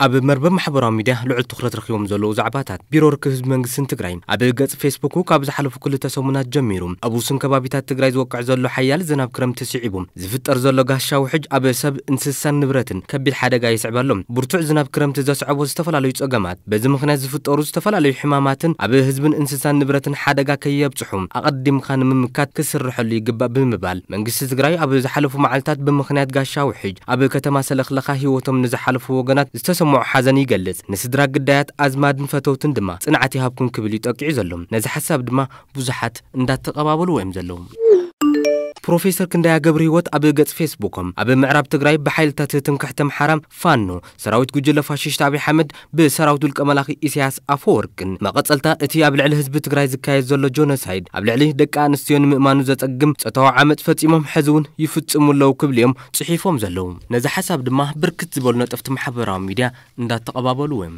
ኣብ መርበብ ማሕበራዊ ሚድያ ልዑል ትኹረት ረኺቦም ዘለዉ ዛዕባታት። ቢሮ ርክብ ህዝቢ መንግስትን ትግራይን ኣብ ገጽ ፌስቡኩ ካብ ዝሓለፉ ክልተ ሰሙናት ጀሚሩ ኣብ ውሱን ከባቢታት ትግራይ ዝወቅዕ ዘሎ ሓያል ዝናብ ክረምቲ ስዒቡ ዝፍጠር ዘሎ ጋሻ ውሕጅ ኣብ ሰብ፣ እንስሳን ንብረትን ከቢድ ሓደጋ ይስዕብ ኣሎ። ብርቱዕ ዝናብ ክረምቲ ዘስዕቦ ዝተፈላለዩ ጸገማት፣ በዚ ምኽንያት ዝፍጠሩ ዝተፈላለዩ ሕማማትን ኣብ ህዝብን እንስሳን ንብረትን ሓደጋ ከየብጽሑ ኣቐዲምካ ንምምካት ክስርሐሉ ይግባእ ብምባል መንግስቲ ትግራይ ኣብ ዝሓለፉ መዓልታት ብምኽንያት ጋሻ ውሕጅ ኣብ ከተማ ሰለኽለኻ ህይወቶም ንዝሓለፉ ወገናት ዝተሰምዖ ሓዘን ይገልጽ። ንስድራ ግዳያት ኣዝማድን ፈተውትን ድማ ጽንዓት ይሃብኩም ክብል እዩ ጠቂዑ ዘሎ። ነዚ ሓሳብ ድማ ብዙሓት እንዳተቐባበልዎ እዮም ዘለዉ። ፕሮፌሰር ክንዳያ ገብረ ህይወት ኣብ ገጽ ፌስቡኮም ኣብ ምዕራብ ትግራይ ብሓይልታት ትምክሕቲ ኣምሓራ ፋኖ ሰራዊት ጉጅለ ፋሽስት ኣብይ ኣሕመድ ብሰራዊት ውልቀ መላኺ ኢሳያስ ኣፈወርቅን መቐጸልታ እቲ ኣብ ልዕሊ ህዝቢ ትግራይ ዝካየድ ዘሎ ጆኖሳይድ ኣብ ልዕሊ ደቂ ኣንስትዮ ንምእማኑ ዘጸግም ጾታዊ ዓመጽ ፈጺሞም ሕዚ እውን ይፍጽሙ ኣለዉ ክብሉ እዮም ጽሒፎም ዘለዉ። ነዚ ሓሳብ ድማ ብርክት ዝበሉ ነጠፍቲ ማሕበራዊ ሚድያ እንዳተቐባበልዎ እዮም።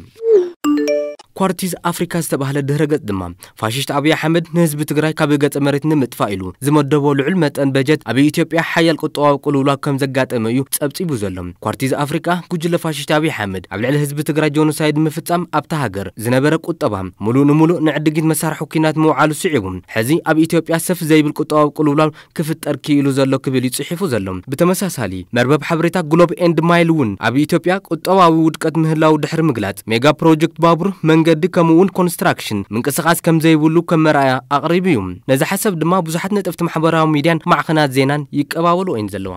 ኳርቲዝ ኣፍሪካ ዝተባህለ ድህረ ገጽ ድማ ፋሽስት ኣብይ ኣሕመድ ንህዝቢ ትግራይ ካብ ገጸ መሬት ንምጥፋእ ኢሉ ዝመደቦ ልዑል መጠን በጀት ኣብ ኢትዮጵያ ሓያል ቁጠባዊ ቅልውላው ከም ዘጋጠመ እዩ ጸብጺቡ ዘሎ። ኳርቲዝ ኣፍሪካ ጉጅለ ፋሽስት ኣብይ ኣሕመድ ኣብ ልዕሊ ህዝቢ ትግራይ ጆኖሳይድ ምፍጻም ኣብታ ሃገር ዝነበረ ቁጠባ ሙሉእ ንሙሉእ ንዕድጊት መሳርሒ ኩናት ምውዓሉ ስዒቡ ሕዚ ኣብ ኢትዮጵያ ሰፍ ዘይብል ቁጠባዊ ቅልውላው ክፍጠር ክኢሉ ዘሎ ክብል እዩ ጽሒፉ ዘሎ። ብተመሳሳሊ መርበብ ሓበሬታ ግሎብ ኤንድ ማይል እውን ኣብ ኢትዮጵያ ቁጠባዊ ውድቀት ምህላው ድሕሪ ምግላጽ ሜጋ ፕሮጀክት ባቡር መንገዲ ከምኡ እውን ኮንስትራክሽን ምንቅስቃስ ከም ዘይብሉ ከም መርኣያ ኣቕሪቡ እዩ። ነዚ ሓሳብ ድማ ብዙሓት ነጠፍቲ ማሕበራዊ ሚድያን ማዕኸናት ዜናን ይቀባበሉ እየን ዘለዋ።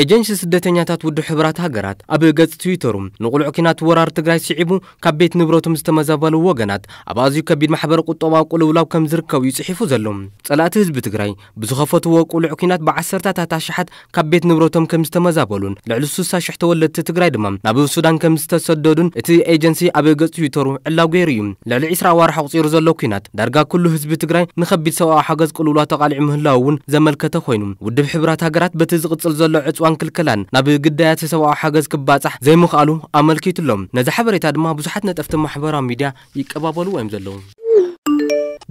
ኤጀንሲ ስደተኛታት ውድብ ሕቡራት ሃገራት ኣብ ገጽ ትዊተሩ ንቑልዕ ኪናት ወራር ትግራይ ስዒቡ ካብ ቤት ንብረቶም ዝተመዛበሉ ወገናት ኣብ ኣዝዩ ከቢድ ማሕበረ ቁጠባዊ ቅልውላው ከም ዝርከቡ እዩ ጽሒፉ ዘሎ። ጸላእቲ ህዝቢ ትግራይ ብዝኸፈትዎ ቁልዕ ኪናት ብዓሰርታታት ኣሽሓት ካብ ቤት ንብረቶም ከም ዝተመዛበሉን ልዕሊ ስሳ ሽሕ ተወለድቲ ትግራይ ድማ ናብ ሱዳን ከም ዝተሰደዱን እቲ ኤጀንሲ ኣብ ገጽ ትዊተሩ ዕላው ገይሩ እዩ። ልዕሊ ዕስራ ኣዋርሕ ኣቑጺሩ ዘሎ ኲናት ዳርጋ ኩሉ ህዝቢ ትግራይ ንኸቢድ ሰብኣዊ ሓገዝ ቅልውላው ተቓሊዑ ምህላው እውን ዘመልከተ ኮይኑ ውድብ ሕቡራት ሃገራት በቲ ዝቕጽል ዘሎ ዕጽዋን ክልከላን ናብ ግዳያት ሰብኣዊ ሓገዝ ክባጻሕ ዘይምኽኣሉ ኣመልኪቱ ኣሎ። ነዚ ሓበሬታ ድማ ብዙሓት ነጠፍቲ ማሕበራዊ ሚድያ ይቀባበልዎ እዮም ዘለዉ።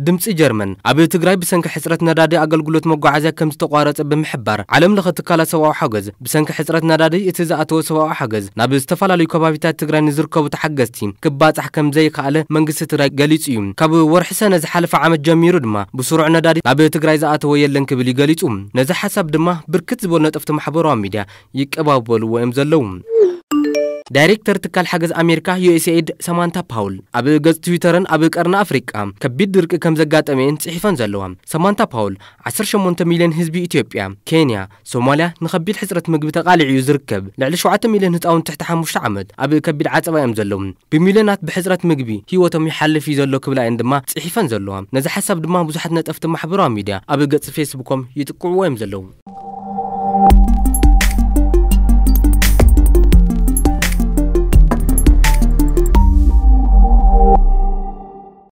ድምፂ ጀርመን ኣብ ትግራይ ብሰንኪ ሕፅረት ነዳዲ ኣገልግሎት መጓዓዝያ ከም ዝተቋረፀ ብምሕባር ዓለም ለኸ ትካላት ሰብኣዊ ሓገዝ ብሰንኪ ሕፅረት ነዳዲ እቲ ዝኣተወ ሰብኣዊ ሓገዝ ናብ ዝተፈላለዩ ከባቢታት ትግራይ ንዝርከቡ ተሓገዝቲ ክባፃሕ ከም ዘይከኣለ መንግስቲ ትግራይ ገሊፁ እዩ። ካብ ወርሒ ሰነ ዝሓለፈ ዓመት ጀሚሩ ድማ ብስሩዕ ነዳዲ ናብ ትግራይ ዝኣተወ የለን ክብል እዩ ገሊፁ። ነዚ ሓሳብ ድማ ብርክት ዝበሉ ነጠፍቲ ማሕበራዊ ሚድያ ይቀባበልዎ እዮም ዘለዉ። ዳይሬክተር ትካል ሓገዝ ኣሜሪካ ዩኤስኤድ ሰማንታ ፓውል ኣብ ገጽ ትዊተርን ኣብ ቀርኒ ኣፍሪቃ ከቢድ ድርቂ ከም ዘጋጠመየን ጽሒፈን ዘለዋ። ሰማንታ ፓውል ዓሰርተ ሸሞንተ ሚልዮን ህዝቢ ኢትዮጵያ፣ ኬንያ፣ ሶማልያ ንኸቢድ ሕጽረት ምግቢ ተቓሊዑ እዩ ዝርከብ። ልዕሊ ሸውዓተ ሚልዮን ህጻውንቲ ትሕቲ ሓሙሽተ ዓመት ኣብ ከቢድ ዓጸባ እዮም ዘለዉ። ብሚልዮናት ብሕጽረት ምግቢ ህይወቶም ይሓልፍ እዩ ዘሎ ክብላ እየን ድማ ጽሒፈን ዘለዋ። ነዚ ሓሳብ ድማ ብዙሓት ነጠፍቲ ማሕበራዊ ሚድያ ኣብ ገጽ ፌስቡኮም ይጥቅዕዎ እዮም ዘለዉ።